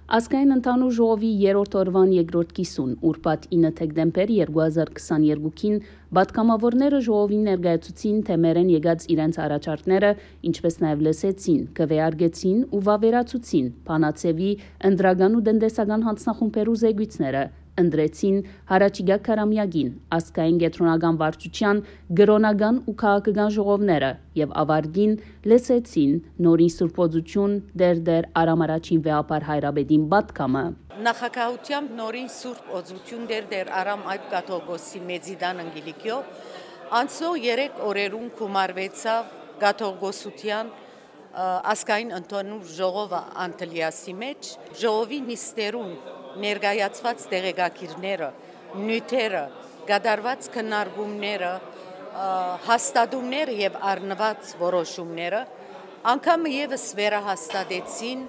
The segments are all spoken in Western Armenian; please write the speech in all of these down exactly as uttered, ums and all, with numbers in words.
Ազգային ընդհանուր ժողովի երրորդ օրուան երկրորդ կիսուն, ուրբաթ ինը դեկտեմբեր երկու հազար քսաներկուին, պատգամաւորները ժողովին ներկայացուցին, թէ մերէն եկած իրենց առաջարկները, ինչպէս նաեւ լսեցին, քուէարկեցին ու վաւերացուցին բանաձեւի, ընտրական ու տնտեսական յանձնախումբերու զեկոյցները, ընտրեցին յառաջիկայ քարամեակին, ազգային կեդրոնական վարչութեան, կրօնական ու քաղաքական ժողովները եւ աւարտին լսեցին նորին Սուրբ Օծութիւն Տէր Տէր Արամ Առաջին վեհափառ հայրապետին պատգամը։ Նախագահութեամբ նորին Սուրբ Օծութիւն Տէր Տէր Արամ Այբ Կաթողիկոսի Մեծիտան Կիլիկիոյ անցնող երեք օրերուն գումարուեցաւ կաթողիկոսութեան, ը, ազգային ընդհանուր ժողովը Անտիլիասի մէջ, ժողովի նիստերուն ներկայացուած տեղեկագիրները, նիւթերը, կատարուած քննարկումները, ը, հաստատումները եւ առնուած որոշումները անգամը եւս վերահաստատեցին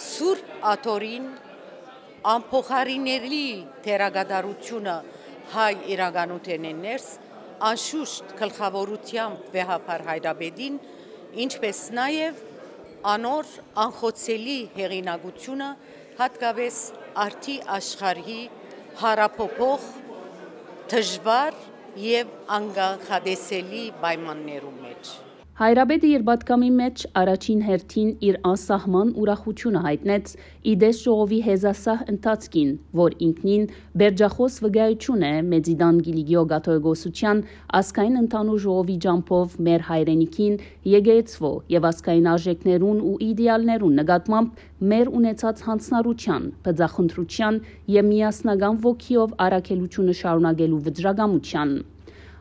Սուրբ Աթոռին անփոխարինելի դերակատարութիւնը հայ իրականութենէն ներս, անշուշտ գլխաւորութեամբ վեհափառ հայրապետին, ինչպէս նաեւ անոր անխոցելի հեղինակութիւնը, յատկապէս արդի աշխարհի յարափոփոխ, դժուար եւ անկանխատեսելի պայմաններու մէջ։ Հայրապետը իր պատգամի մէջ առաջին հերթին իր անսահման ուրախութիւնը յայտնեց ի տես ժողովի հեզասահ ընթացքին, որ ինքնին բերջախոս վկայութիւն է Մեծիտան Կիլիկիոյ կաթողիկոսութեան ազգային ընդհանուր ժողովի ճամբով մեր հայրենիքին, եկեղեցւոյ եւ ազգային արժէքներուն ու իդեալներուն նկատմամբ մեր ունեցած յանձնառութեան, բծախնդրութեան եւ միասնական ոգիով առաքելութիւնը շարունակելու վճռակամութեան։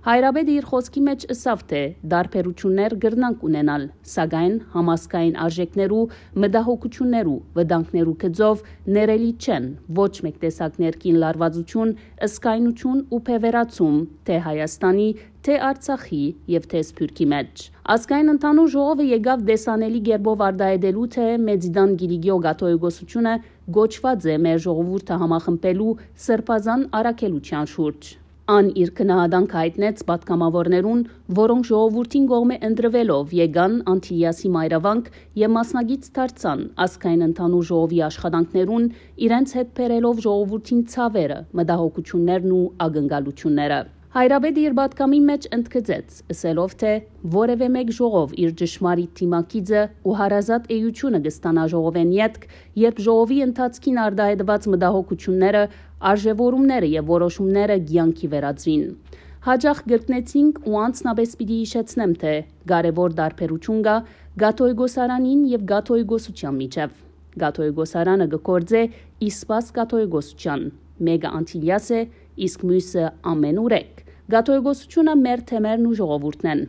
Հայրապետը իր խօսքի մէջ ըսաւ, թէ տարբերութիւններ կրնանք ունենալ, սակայն համազգային արժէքներու, մտահոգութիւններու, վտանգներու գծով ներելի չեն ոչ մէկ տեսակ ներքին լարուածութիւն, զգայնութիւն ու բեւեռացում թէ Հայաստանի, թէ Արցախի եւ թէ Սփիւռքի մէջ։ Ազգային ընդհանուր ժողովը եկաւ տեսանելի կերպով արտայայտելու, թէ Մեծիտան Կիլիկիոյ կաթողիկոսութիւնը կոչուած է մեր ժողովուրդը համախմբելու սրբազան առաքելութեան շուրջ։ Ան իր գնահատանքը յայտնեց պատգամաւորներուն, որոնք ժողովուրդին կողմէ ընտրուելով եկան Անտիլիասի մայրավանք եւ մասնակից դարձան ազգային ընդհանուր ժողովի աշխատանքներուն, իրենց հետ բերելով ժողովուրդին ցաւերը, մտահոգութիւններն ու ակնկալութիւնները։ Հայրապետը իր պատգամի մէջ ընդգծեց, ըսելով, թէ որեւէ մէկ ժողով իր ճշմարիտ դիմագիծը ու հարազատ էութիւնը կը ստանայ ժողովէն ետք, երբ ժողովի ընթացքին արտայայտուած մտահոգութիւնները, արժեւորումները եւ որոշումները կեանքի վերածուին։ Յաճախ կրկնեցինք ու անձնապէս պիտի յիշեցնեմ, թէ կարեւոր տարբերութիւն կայ կաթողիկոսարանին եւ կաթողիկոսութեան միջեւ։ Կաթողիկոսարանը կը գործէ ի սպաս կաթողիկոսութեան, մէկը Անտիլիաս է, իսկ միւսը ամէնուրեք։ Կաթողիկոսութիւնը մեր թեմերն ու ժողովուրդն են։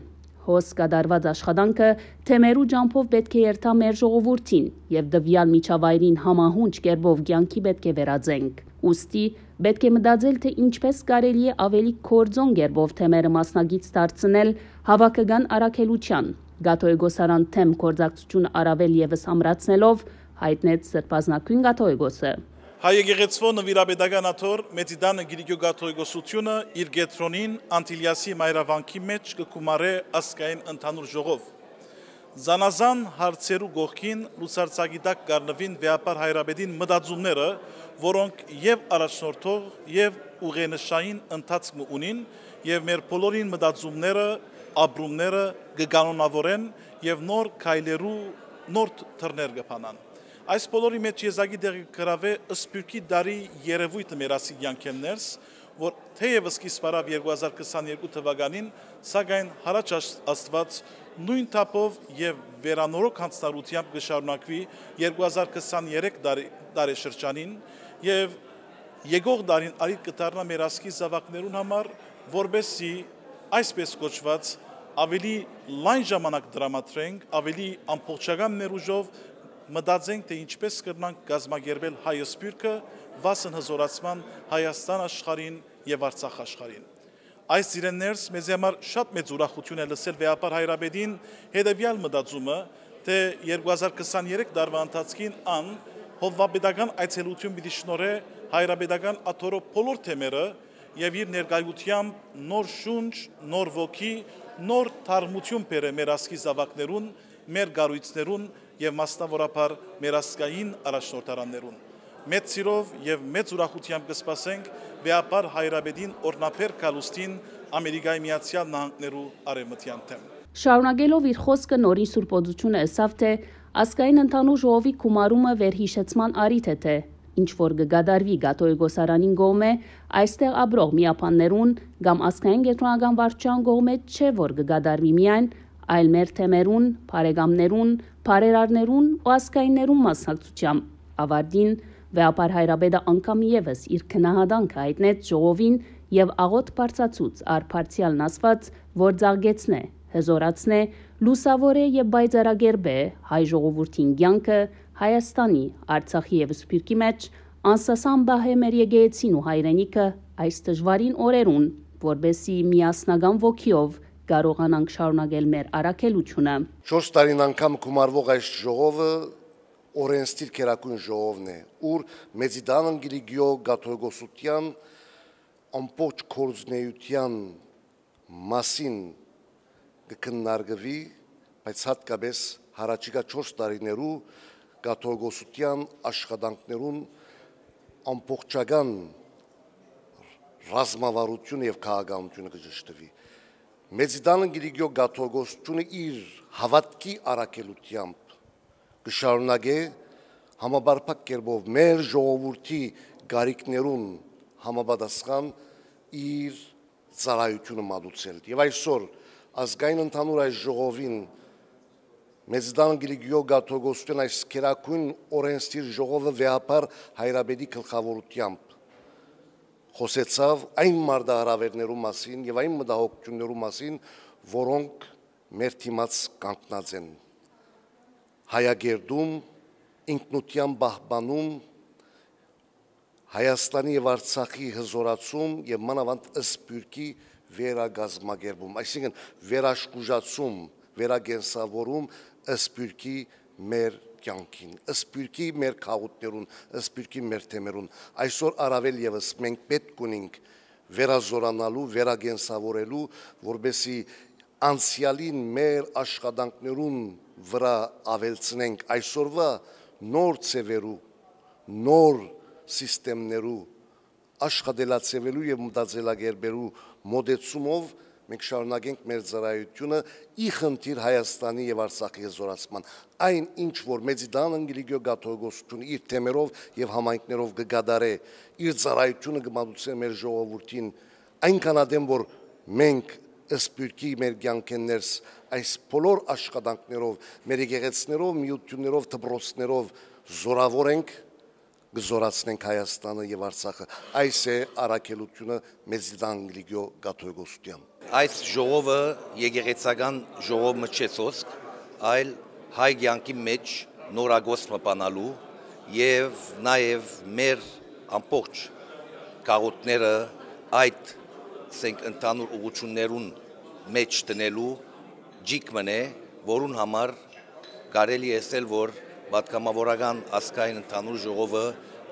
Հոս կատարուած աշխատանքը թեմերու ճամբով պէտք է երթայ մեր ժողովուրդին եւ տուեալ միջավայրին համահունչ կերպով կեանքի պէտք է վերածենք։ Ուստի պէտք է մտածել, թէ ինչպէս կարելի է աւելի գործոն կերպով թեմերը մասնակից դարձնել հաւաքական առաքելութեան, կաթողիկոսարան թեմ գործակցութիւնը առաւել եւս ամրացնելով, յայտնեց Սրբազնագոյն կաթողիկոսը։ Հայ եկեղեցւոյ նուիրապետական աթոռ Մեծիտան Կիլիկիոյ կաթողիկոսութիւնը իր կեդրոնին Անտիլիասի մայրավանքի մէջ կը գումարէ ազգային ընդհանուր ժողով։ Զանազան հարցերու կողքին լուսարձակի տակ կ'առնուին վեհափառ հայրապետին մտածումները, որոնք եւ առաջնորդող, եւ ուղենշային ընթացք մը ունին, եւ մեր բոլորին մտածումները, ապրումները կը կանոնաւորեն եւ նոր քայլերու նոր դռներ կը բանան։ Այս բոլորի մէջ եզակի տեղը կը գրաւէ Սփիւռքի տարի երեւոյթը մեր ազգի կեանքէն ներս, որ թէեւ սկիզբ առաւ երկու հազար քսաներկու թուականին, սակայն Յառաջ Ast-, Աստուած նոյն թափով եւ վերանորոգ յանձնառութեամբ կը շարունակուի երկու հազար քսաներեք տարի, տարեշրջանին, եւ եկող տարին ալիք կը դառնայ մեր ազգի զաւակներուն համար, որպէս զի այսպես կոչուած աւելի լայն ժամանակ տրամադրենք, աւելի ամբողջական ներուժով մտածենք, թէ ինչպես կրնանք կազմակերպել հայ սփիւռքը վասն հզօրացման Հայաստան աշխարհին եւ Արցախ աշխարհին։ Այս իրեն ներս մեզի համար շատ մեծ ուրախութիւն է լսել վեհափառ հայրապետին, հետեւեալ մտածումը, թէ երկու հազար քսաներեք տարուայ ընթացքին ան հովուապետական այցելութիւն պիտի շնորհէ հայրապետական աթոռի բոլոր թեմերը եւ իր ներկայութեամբ նոր շունչ, նոր ոգի, նոր թարմութիւն բերէ մեր ազգի զաւակներուն, մեր կառոյցներուն եւ մասնաւորաբար մեր ազգային առաջնորդարաններուն։ Մեծ սիրով եւ մեծ ուրախութեամբ կը սպասենք վեհափառ հայրապետին օրհնաբեր գալուստին Ամերիկայի Միացյալ Նահանգներու արեւմտեան թեմ։ Շարունակելով իր խօսքը, Նորին Սուրբ Օծութիւնը ըսաւ, թէ ազգային ընդհանուր ժողովի գումարումը վերհիշեցման առիթ է, թէ ինչ որ կը կատարուի Կաթողիկոսարանին կողմէ, այստեղ ապրող միաբաններուն կամ ազգային կեդրոնական վարչութեան կողմէ չէ, որ կը կատարուի միայն, այլ մեր թեմերուն, բարեկամներուն, բարերարներուն ու ազգայիններուն մասնակցությամբ։ Աւարտին, վեհափառ հայրապետը անգամ եւս իր գնահատանքը յայտնեց ժողովին եւ աղօթք բարձրացուց առ բարձեալն ասված, որ ծաղկեցնէ, հզօրացնէ, լուսաւորէ եւ պայծառակերպէ հայ ժողովուրդին կեանքը Հայաստանի, Արցախի եւ Սփիւռքի մէջ, անսասան պահէ մեր եկեղեցին ու հայրենիքը այս դժուարին օրերուն, որպէսզի միասնական ոգիով կարողանանք շարունակել մեր առաքելութիւնը։ Չորս տարին անգամ գումարվող այս ժողովը օրենսդիր գերագույն ժողովն է, ուր Մեծիտան Անկիլիկիոյ կաթողիկոսութեան ամբողջ գործունեութեան մասին կը քննարկուի, բայց յատկապես յառաջիկայ չորս տարիներու կաթողիկոսութեան աշխատանքներուն ամբողջական ռազմավարությունը եւ քաղաքականությունը կը ճշդուի։ Մեծիտան Անկիլիկիոյ կաթողիկոսութիւնը իր հաւատքի առաքելութեամբ կը շարունակէ համապարփակ կերպով մեր ժողովուրդի կարիքներուն համապատասխան իր ծառայութիւնը մատուցել։ Եւ այսօր ազգային ընդհանուր այս ժողովին Մեծիտան Անկիլիկիոյ կաթողիկոսութեան այս գերագույն օրենսդիր ժողովը վեհափառ հայրապետի գլխաւորութեամբ խօսեցաւ այն մարտահրաւէրներու մասին եւ այն մտահոգութիւններու մասին, որոնք մեր դիմաց կանգնած են հայագերտում, ինքնութեան պահպանում, Հայաստանի եւ Արցախի հզօրացում եւ մանաւանդ Սփիւռքի վերակազմակերպում, այսինքն՝ վերաշխուժացում, վերակենսաւորում Սփիւռքի մեր կեանքին, Սփիւռքի մեր գաղութներուն, Սփիւռքի մեր թեմերուն։ Այսօր առաւել եւս մենք պէտք ունենք վերազօրանալու, վերակենսաւորելու, որպէսզի անցեալին մեր աշխատանքներուն վրայ աւելցնենք այսօրուայ նոր ձեւերու, նոր սիստեմներու, աշխատելաձեւերու եւ մտածելակերպերու մոտեցումով մենք շարունակենք մեր ծառայութիւնը ի խնդիր Հայաստանի եւ Արցախի հզօրացման։ Այն, ինչ որ Մեծիտան Անկիլիկիոյ կաթողիկոսութիւնը իր թեմերով եւ համայնքներով կը կատարէ իր ծառայութիւնը, կը մատուցէ մեր ժողովուրդին, այնքան ատեն որ մենք Սփիւռքի մեր կեանքէն ներս այս բոլոր աշխատանքներով, մեր եկեղեցիներով, միութիւններով, դպրոցներով զօրաւոր ենք, կը զօրացնենք Հայաստանը եւ Արցախը։ Այս է առաքելութիւնը Մեծիտան Անկիլիկիոյ կաթողիկոսութեան։ Այս ժողովը եկեղեցական ժողով մը չէ սոսկ, այլ հայ կեանքի մէջ նորագոց մը բանալու եւ նաեւ մեր ամբողջ գաղութները այդ, ասենք, ընդհանուր ուղղութիւններուն մէջ դնելու ջիկ մըն է, որուն համար կարելի է ըսել, որ պատգամաւորական ազգային ընդհանուր ժողովը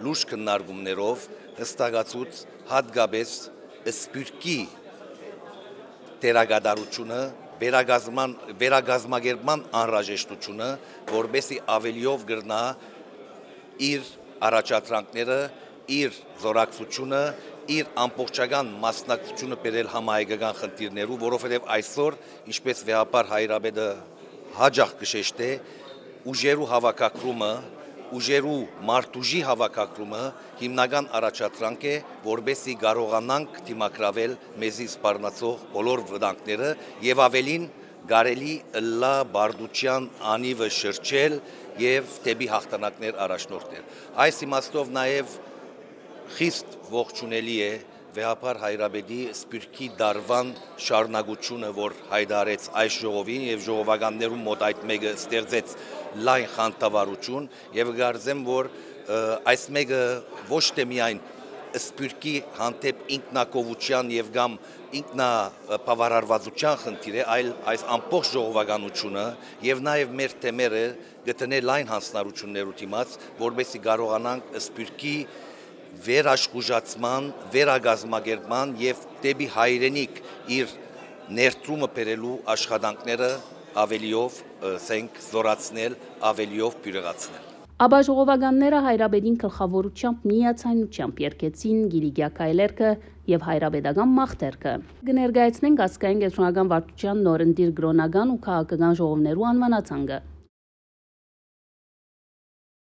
լուրջ քննարկումներով յստակացուց յատկապես Սփիւռքի դերակատարութիւնը, վերակազմման, վերակազմակերպման անհրաժեշտութիւնը, որպէսզի աւելիով կրնայ իր առաջադրանքները, իր զօրակցութիւնը, իր ամբողջական մասնակցութիւնը բերել համահայկական խնդիրներու, որովհետեւ այսօր, ինչպես վեհափառ հայրապետը յաճախ կը շեշտէ, ուժերու հաւաքակրումը, ուժերու մարտուժի հաւաքակրումը հիմնական առաջադրանք է, որպէսզի կարողանանք դիմագրաւել մեզի սպառնացող բոլոր վտանգները եւ ավելին կարելի ըլլայ պարտութեան անիվը շրջել եւ դէպի յաղթանակներ առաջնորդել։ Այս իմաստով նաեւ խիստ ողջունելի է վեհափառ հայրապետի Սփիւռքի տարուան շարունակութիւնը, որ յայտարարեց այս ժողովին եւ ժողովականներուն մօտ այդ մէկը ստեղծեց լայն խանդավառութիւն եւ կարծեմ, որ, ը, այս մէկը ոչ թե միայն Սփիւռքի հանդէպ ինքնակովութեան եւ կամ ինքնաբավարարվածութեան խնդիր է, այլ այս ամբողջ ժողովականութիւնը եւ նաեւ մեր թեմերը կը դնէ լայն յանձնառութիւններու դիմաց, որպէսզի կարողանանք Սփիւռքի վերաշխուժացման, վերակազմակերպման եւ դէպի հայրենիք իր ներդրումը բերելու աշխատանքները Ավելիով, ը, զենք զորացնել, ավելիով բիւրեղացնել։ Ապա ժողովականները հայրապետին գլխաւորութեամբ միաձայնութեամբ երգեցին Կիլիկիա քայլերգը եւ հայրապետական մաղթերգը։ Կը ներկայացնենք ազգային կեդրոնական վարչության նորընտիր կրօնական ու քաղաքական ժողովներու անուանացանկը։